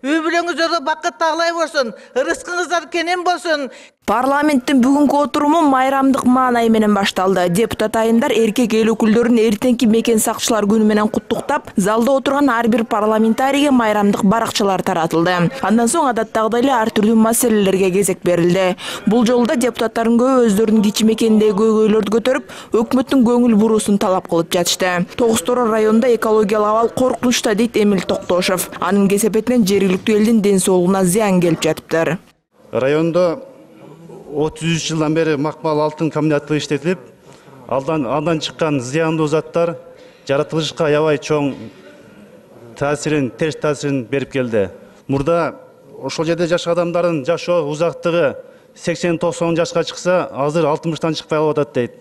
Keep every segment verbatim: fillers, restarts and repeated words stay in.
Үй бүлөңүздөргө бакыт таглай болсун, ырыскыңыздар кенен болсун. Парламенттин бүгүнкү отуруму майрамдык маанай менен башталды. Депутат айымдар эркек эл өкүлдөрүн эртеңки мекен сакчылар күнү менен куттуктап, залда отурган ар бир парламентарийге майрамдык баракчалар таратылды. Андан соң адаттагыдай эле ар түрдүү маселелерге кезек берилди. Бул жолу да депутаттардын көбү өздөрүнүн кичи мекендеги көйгөйлөрдү көтөрүп, өкмөттүн көңүл буруусун талап кылып жатышты. Тогуз Тороо районунда экологиялык абал коркунучта, дейт Эмил Токтошов. Анын кесепетинен жергиликтүү элдин ден соолугуна зыян келип жатыптыр. Райондо отуз үч жылдан бери макмал алтын комбинаты иштетилип, алдан андан чыккан зыяндуу заттар жаратылышка аябай чоң таасирин, терс таасирин берип келди. Мурда ошол жерде жашаган адамдардын жашоо узактыгы сексен токсон жашка чыкса, азыр алтымыштан чыкпай калып атат дейт.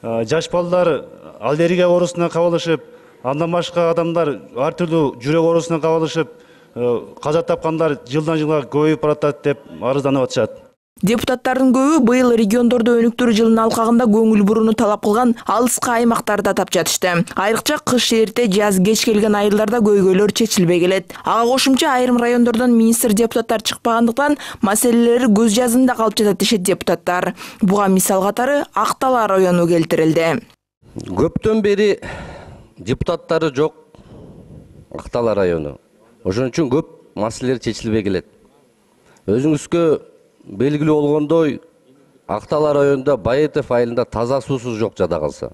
Жаш балдар аллергия оорусуна кабылышып, андан башка адамдар ар түрдүү жүрөк оорусуна кабылышып, каза тапкандар жылдан жылга көбөйүп баратат деп арызданып атышат. Депутаттардын көбү быйыл региондордо өнүктүрүү жылынын алкагында көңүл бурууну талап кылган алыскы аймактарды атап жатышты. Айрыкча кыш эрте, жаз кеч келген айылдарда көйгөйлөр чечилбей келет. Ага кошумча айрым райондордон министр депутаттар чыкпагандыктан маселелери көз жазында калып жатат дешет депутаттар. Буга мисал катары Актала району келтирилди. Көптөн бери депутаттары жок Актала району. Ошон үчүн көп маселелер чечилбей келет. Өзүңүзгө белгилүү болгондой, Актала районунда Баетов айылында таза суусуз жок жада калса.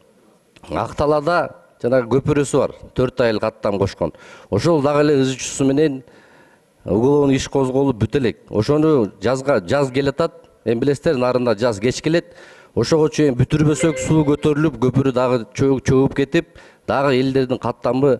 Акталада жанагы көпүрөсү бар, төрт айыл каттам кошкон. Ошол дагы эле ыз чусу менен уголовный иш козголуп бүт элек. Ошону жазга жаз келатат, эми билесиздер, нарында жаз кеч келет. Ошого чейин бүтүрбөсөк суу көтөрүлүп, көпүрө дагы чөгүп кетип, дагы элдердин каттамы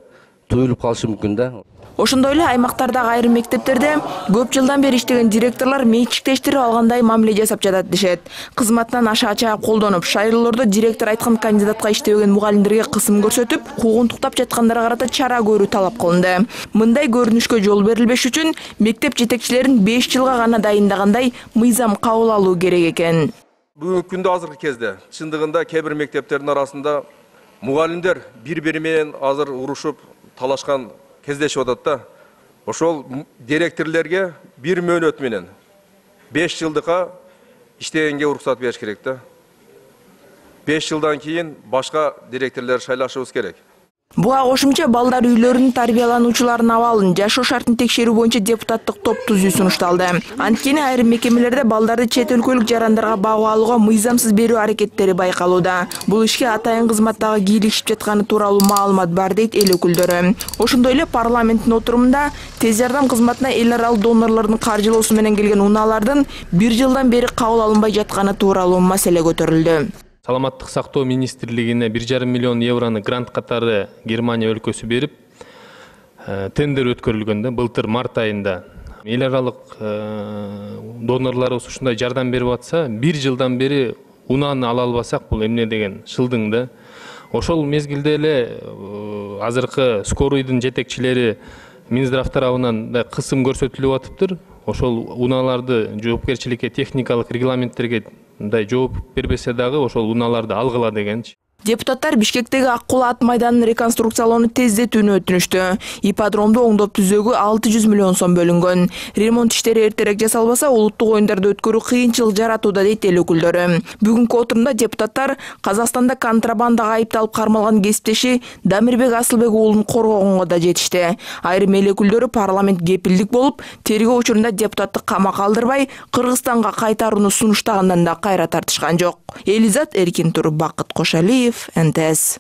туюлуп калышы мүмкүн да. Ошондой эле аймактардагы айрым мектептерде көп жылдан бери иштеген директорлор менчиктештирип алгандай мамиле жасап жатат дешет. Кызматынан аша чаап колдонуп, шайлоолордо директор айткан кандидатка иштебеген мугалимдерге кысым көрсөтүп, куугунтуктап жаткандарга карата чара көрүү талап кылынды. Мындай көрүнүшкө жол берилбеш үчүн мектеп жетекчилерин беш жылга гана дайындагандай мыйзам кабыл алуу керек экен. Бүгүнкү күндө азыркы кезде чындыгында кээ бир мектептердин арасында мугалимдер бири-бири менен азыр урушуп, талашкан кездешип атат да. Ошол директорлорго бир мөөнөт менен беш жылдыкка иштегенге уруксат бериш керек да. беш жылдан кийин башка директорлор шайлашыбыз керек. Буга кошумча балдар үйлөрүнүн тарбиялануучуларынын абалын, жашоо шартын текшерүү боюнча депутаттык топ түзүү сунушталды. Анткени айрым мекемелерде балдарды чет өлкөлүк жарандарга багып алууга мыйзамсыз берүү аракеттери байкалууда. Бул ишке атайын кызматтагы кийлигишип жатканы тууралуу маалымат бар, дейт эл өкүлдөрү. Ошондой эле парламенттин отурумунда тез жардам кызматына эл аралык донорлордун каржылоосу менен келген унаалардын бир жылдан бери кабыл алынбай жатканы тууралуу маселе көтөрүлдү. Саламаттык сактоо министрлигине бир жарым миллион евроны грант катары Германия өлкөсү берип, тендер өткөрүлгөн да, былтыр март айында. Эл аралык донорлорубуз ушундай жардам берип атса, бир жылдан бери унааны ала албасак, бул эмне деген шылдың да. Ошол мезгилде эле азыркы скорыйдын жетекчилери Минздрав тарабынан да кысым көрсөтүлүп атыптыр. Ошол унааларды жоопкерчиликке, техникалык регламенттерге мындай жооп бербесе дагы ошол унааларды алгыла дегенчи. Депутаттар Бишкектеги Ак Кул ат майданын реконструкциялоону тездетүүнү өтүнүштү. Ипподромду оңдоп түзүүгө алты жүз миллион сом бөлүнгөн. Ремонт иштери эртерээк жасалбаса, улуттук оюндарды өткөрүү кыйынчылык жаратууда, дейт эл өкүлдөрү. Бүгүнкү отурумда депутаттар Казакстанда контрабандага айыпталып кармалган кесиптеши Дамирбек Асылбек уулун коргогонго да жетишти. Айрым эл өкүлдөрү парламент кепилдик болуп, тергөө учурунда депутатты камакка алдырбай, Кыргызстанга кайтарууну сунуштагандан да кайра тартышкан жок. Элизат Эркин Туруп, Бакыт Кошалиев, эн тэ эс.